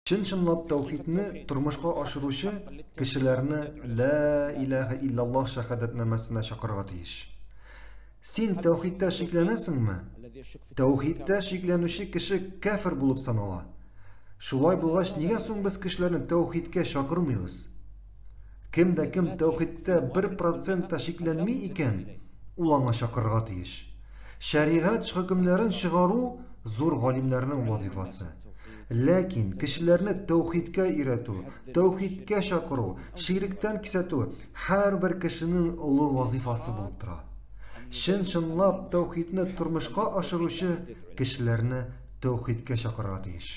Чын-чынлап тәүхидне тормышка ашыручы кешеләрне Лә иләһә илляллаһ шәһадәтнамәсенә чакырырга тиеш. Син тәүхидтә шикләнәсеңме? Тәүхидтә шикләнүче кеше кәфер булып санала. Шулай булгач, нигә соң без кешеләрне тәүхидкә чакырмыйбыз? Кем дә кем тәүхидтә 1% та шикләнми икән, ул аңа чакырырга тиеш. Шәригать хөкемнәрен чыгару зур галимнәрнең вазифасы. Ләкин кешеләрне тәүхидкә өйрәтү, тәүхидкә чакыру, ширектән кисәтү һәрбер кешенең олы вазифасы булып тора. Чын-чынлап тәүхидне тормышка ашыручы кешеләрне тәүхидкә чакырырга тиеш.